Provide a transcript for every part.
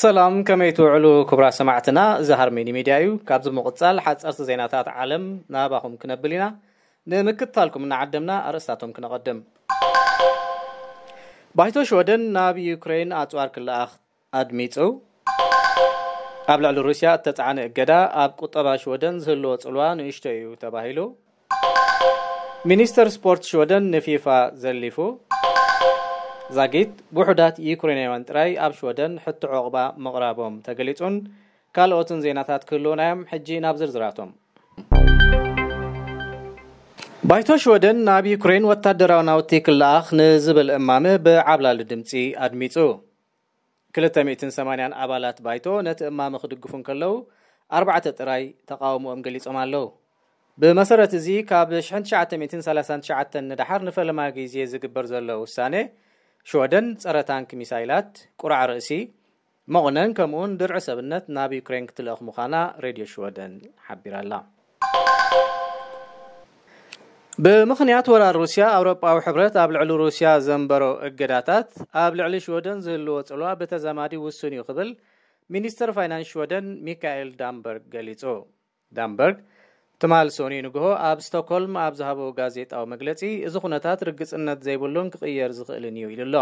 ሰላም፣ ከመይ ትውዕሉ ክቡራት ሰማዕትና? እዚ ሃርሜኒ ሚድያ እዩ። ካብዚ ምቕጻል ሓጸርቲ ዜናታት ዓለም ናባኹም ክነብል ኢና። ንምክትታልኩም እናዓደምና ኣርእስታቶም ክነቐድም። ባይቶ ሽወደን ናብ ዩክሬን ኣጽዋር ክለኣኽ ኣድሚጹ። ኣብ ልዕሊ ሩስያ እተጻዕነ እገዳ ኣብ ቁጠባ ሽወደን ዝህልዎ ጽልዋ ንእሽቶ እዩ ተባሂሉ። ሚኒስተር ስፖርት ሽወደን ንፊፋ ዘሊፉ። ዛጊት ውሑዳት ዩክሬናውያን ጥራይ ኣብ ሽወደን ሕቶ ዕቑባ ምቕራቦም ተገሊጹን ካልኦትን ዜናታት ክህልውና እዮም። ሕጂ ናብ ዝርዝራቶም። ባይቶ ሽወደን ናብ ዩክሬን ወታደራዊ ናውቲ ክለኣኽ ንዝብል እማመ ብዓብላሊ ድምጺ ኣድሚጹ። ክልተ ሚእትን ሰማንያን ኣባላት ባይቶ ነቲ እማመ ክድግፉ እንከለዉ፣ ኣርባዕተ ጥራይ ተቓውሞኦም ገሊጾም ኣለዉ። ብመሰረት እዚ፣ ካብ ሽሕን ትሽዓተ ሚእትን ሰላሳን ትሽዓተን ንደሓር ንፈለማ ግዜ ዝግበር ዘሎ ውሳኔ፣ ሽወደን ጸረ ታንክ ሚሳይላት፣ ቁራዕ ርእሲ፣ መቑነን ከምኡውን ድርዒ ሰብነት ናብ ዩክሬን ክትልእኽ ምዃና ሬድዮ ሽወደን ሓቢራ ኣላ። ብምኽንያት ወራር ሩስያ፣ ኣውሮጳዊ ሕብረት ኣብ ልዕሊ ሩስያ ዘንበሮ እገዳታት ኣብ ልዕሊ ሽወደን ዝህልዎ ጽልዋ ብተዛማዲ ውሱን እዩ ክብል ሚኒስተር ፋይናንስ ሽወደን ሚካኤል ዳምበርግ ገሊጹ። ዳምበርግ ትማል ሰኑይ ንግሆ ኣብ ስቶክሆልም ኣብ ዝሃቦ ጋዜጣዊ መግለጺ፣ እዚ ኩነታት ርግጽነት ዘይብሉን ክቕየር ዝኽእልን እዩ ኢሉ ኣሎ።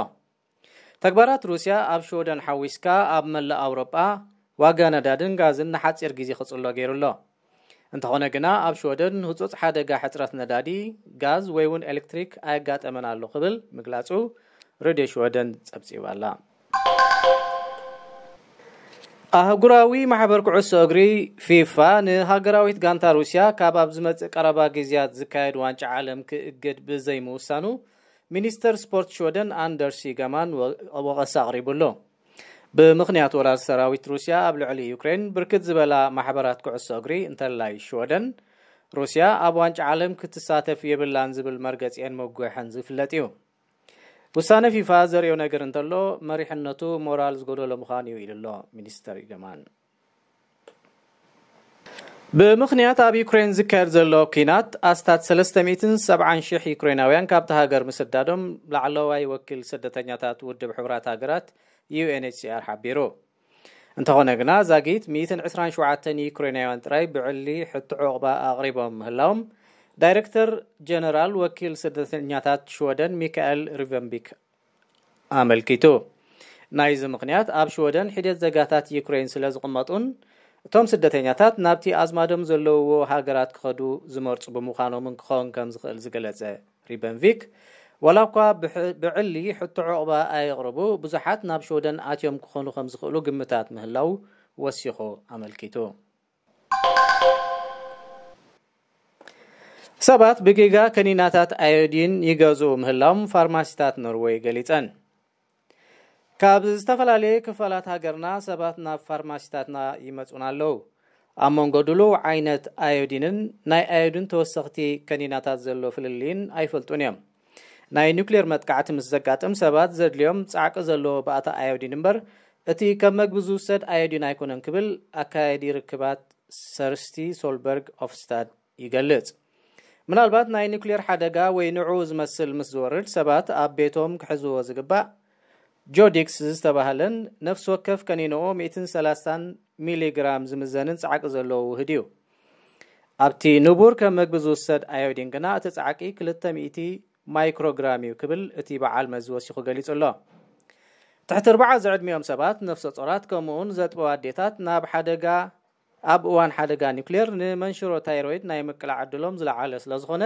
ተግባራት ሩስያ ኣብ ሽወደን ሓዊስካ ኣብ መላእ ኣውሮጳ ዋጋ ነዳድን ጋዝን ንሓጺር ግዜ ክጽሎ ገይሩ ኣሎ። እንተኾነ ግና ኣብ ሽወደን ህጹጽ ሓደጋ ሕጽረት ነዳዲ፣ ጋዝ ወይ እውን ኤሌክትሪክ ኣየጋጠመን ኣሎ ክብል ምግላጹ ሬድዮ ሽወደን ጸብጺባ ኣላ። ኣህጉራዊ ማሕበር ኩዕሶ እግሪ ፊፋ ንሃገራዊት ጋንታ ሩስያ ካብ ኣብ ዝመጽእ ቀረባ ግዜያት ዝካየድ ዋንጫ ዓለም ክእግድ ብዘይምውሳኑ ሚኒስተር ስፖርት ሽወደን ኣንደርስ ይገማን ወ-፣ ወቐሳ ኣቕሪቡ ኣሎ። ብምኽንያት ወራር ሰራዊት ሩስያ ኣብ ልዕሊ ዩክሬን ብርክት ዝበላ ማሕበራት ኩዕሶ እግሪ እንተላይ ሽወደን ሩስያ ኣብ ዋንጫ ዓለም ክትሳተፍ የብላን ዝብል መርገጺኤን መጉሕን ዝፍለጥ እዩ። ውሳነ ፊፋ ዘርእዮ ነገር እንተሎ መሪሕነቱ ሞራል ዝጎደሎ ምዃኑ እዩ ኢሉ ኣሎ ሚኒስተር ይገማን። ብምኽንያት ኣብ ዩክሬን ዝካየድ ዘሎ ኲናት ኣስታት ሰለስተ ሚእትን ሰብዓን ሽሕ ዩክሬናውያን ካብቲ ሃገር ምስዳዶም ላዕለዋይ ወኪል ስደተኛታት ውድብ ሕቡራት ሃገራት ዩ ኤን ኤች ሲ ኣር ሓቢሩ። እንተኾነ ግና ዛጊት ሚእትን ዕስራን ሸውዓተን ዩክሬናውያን ጥራይ ብዕሊ ሕቶ ዕቑባ ኣቕሪቦም ምህላዎም ዳይሬክተር ጀነራል ወኪል ስደተኛታት ሽወደን ሚካኤል ሪቨንቢክ ኣመልኪቱ። ናይዚ ምኽንያት ኣብ ሽወደን ሒደት ዜጋታት ዩክሬን ስለ ዝቕመጡን እቶም ስደተኛታት ናብቲ ኣዝማዶም ዘለውዎ ሃገራት ክኸዱ ዝመርጹ ብምዃኖምን ክኸውን ከም ዝኽእል ዝገለጸ ሪበንቪክ፣ ዋላ እኳ ብሕ-፣ ብዕሊ ሕቶ ዕቑባ ኣየቕርቡ፣ ብዙሓት ናብ ሽወደን ኣትዮም ክኾኑ ከም ዝኽእሉ ግምታት ምህላው ወሲኹ ኣመልኪቱ። ሰባት ብጌጋ ከኒናታት ኣዮዲን ይገዝኡ ምህላዎም ፋርማሲታት ኖርዌይ ገሊጸን። ካብ ዝተፈላለየ ክፋላት ሃገርና ሰባት ናብ ፋርማሲታትና ይመጹና ኣለዉ። ኣብ መንጎ ድሉው ዓይነት ኣዮዲንን ናይ ኣዮዲን ተወሰኽቲ ከኒናታት ዘሎ ፍልልይን ኣይፈልጡን እዮም። ናይ ኒውክሌር መጥቃዕቲ ምስ ዘጋጥም ሰባት ዘድልዮም ጻዕቂ ዘለዎ ባእታ ኣዮዲን እምበር፣ እቲ ከም መግቢ ዝውሰድ ኣዮዲን ኣይኮነን ክብል ኣካያዲ ርክባት ሰርስቲ ሶልበርግ ኦፍስታድ ይገልጽ። ምናልባት ናይ ኒውክሌር ሓደጋ ወይ ንዕኡ ዝመስል ምስ ዝወርድ፣ ሰባት ኣብ ቤቶም ክሕዝዎ ዝግባእ ጆዲክስ ዝተባህለን ነፍሲ ወከፍ ከኒንኡ ሚእትን ሰላሳን ሚሊግራም ዝምዘንን ጻዕቂ ዘለዎ ውህድ እዩ። ኣብቲ ንቡር ከም መግቢ ዝውሰድ ኣዮዲን ግና እቲ ጻዕቂ ክልተ ሚእቲ ማይክሮግራም እዩ ክብል እቲ በዓል መዚ ወሲኹ ገሊጹ ኣሎ። ትሕቲ ኣርባዓ ዝዕድሚኦም ሰባት፣ ነፍሰ ጾራት ከምኡውን ዘጥበዋ ኣዴታት ናብ ሓደጋ፣ ኣብ እዋን ሓደጋ ኒውክሌር ንመንሽሮ ታይሮይድ ናይ ምቅላዕ ዕድሎም ዝለዓለ ስለ ዝኾነ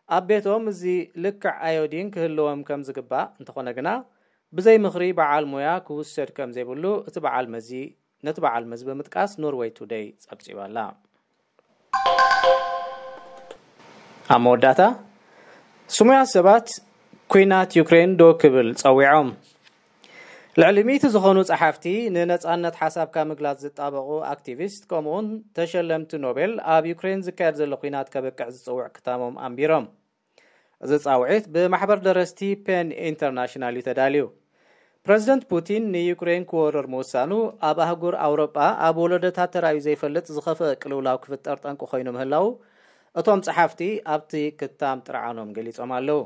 ኣብ ቤቶም እዚ ልክዕ ኣዮዲን ክህልዎም ከም ዝግባእ፣ እንተኾነ ግና ብዘይ ምኽሪ በዓል ሞያ ክውሰድ ከም ዘይብሉ እቲ በዓል መዚ፣ ነቲ በዓል መዚ ብምጥቃስ ኖርዌይ ቱደይ ጸብጺባ ኣላ። ኣብ መወዳእታ፣ ስሙያት ሰባት ኲናት ዩክሬን ዶ ክብል ጸዊዖም። ልዕሊ ሚእቲ ዝኾኑ ጸሓፍቲ፣ ንነጻነት ሓሳብካ ምግላጽ ዝጣበቑ ኣክቲቪስት፣ ከምኡውን ተሸለምቲ ኖቤል ኣብ ዩክሬን ዝካየድ ዘሎ ኲናት ከብቅዕ ዝጽውዕ ክታሞም ኣንቢሮም። እዚ ጻውዒት ብማሕበር ደረስቲ ፔን ኢንተርናሽናል እዩ ተዳልዩ። ፕረዚደንት ፑቲን ንዩክሬን ክወርር ምውሳኑ ኣብ ኣህጉር ኣውሮጳ ኣብ ወለዶታት ተራእዩ ዘይፈልጥ ዝኸፍአ ቅልውላው ክፍጠር ጠንቂ ኮይኑ ምህላው እቶም ጸሓፍቲ ኣብቲ ክታም ጥርዓኖም ገሊጾም ኣለዉ።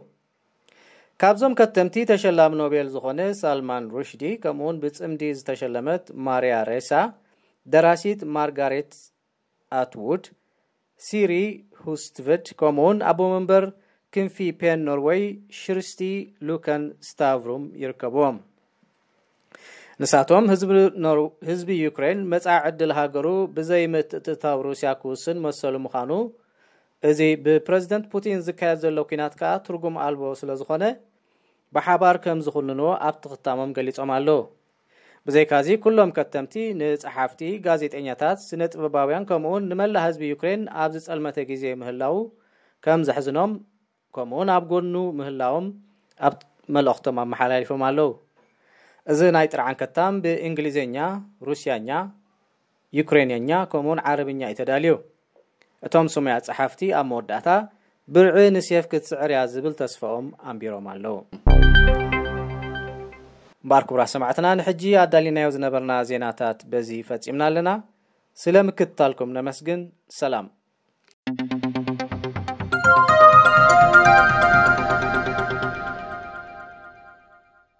ካብዞም ከተምቲ፣ ተሸላሚ ኖቤል ዝኾነ ሳልማን ሩሽዲ፣ ከምኡውን ብጽምዲ ዝተሸለመት ማሪያ ሬሳ፣ ደራሲት ማርጋሬት ኣትውድ፣ ሲሪ ሁስትቨድ፣ ከምኡውን ኣቦ መንበር ክንፊ ፔን ኖርወይ ሽርስቲ ሉከን ስታቭሩም ይርከብዎም። ንሳቶም ህዝቢ ኖር-፣ ህዝቢ ዩክሬን መጻኢ ዕድል ሃገሩ ብዘይ ምትእትታው ሩስያ ክውስን መሰሉ ምዃኑ፣ እዚ ብፕረዚደንት ፑቲን ዝካየድ ዘሎ ኲናት ከኣ ትርጉም ኣልቦ ስለ ዝኾነ፣ ብሓባር ከም ዝኹንንዎ ኣብቲ ክታሞም ገሊጾም ኣለዉ። ብዘይካዚ፣ ኩሎም ከተምቲ ንጸሓፍቲ፣ ጋዜጠኛታት፣ ስነ ጥበባውያን፣ ከምኡውን ንመላእ ህዝቢ ዩክሬን ኣብ ዝጸልመተ ግዜ ምህላዉ ከም ዘሕዝኖም፣ ከምኡውን ኣብ ጎኑ ምህላዎም ኣብ መልእኽቶም ኣመሓላሊፎም ኣለዉ። እዚ ናይ ጥርዓን ከታም ብእንግሊዝኛ፣ ሩስያኛ፣ ዩክሬንኛ፣ ከምኡውን ዓረብኛ እዩ ተዳልዩ። እቶም ስሙያት ጸሓፍቲ ኣብ መወዳእታ፣ ብርዒ ንሴፍ ክትስዕር እያ ዝብል ተስፋኦም ኣንቢሮም ኣለዉ። እምበኣር ክቡራት ሰማዕትና፣ ንሕጂ ኣዳሊናዮ ዝነበርና ዜናታት በዚ ፈጺምና ኣለና። ስለ ምክትታልኩም ነመስግን። ሰላም።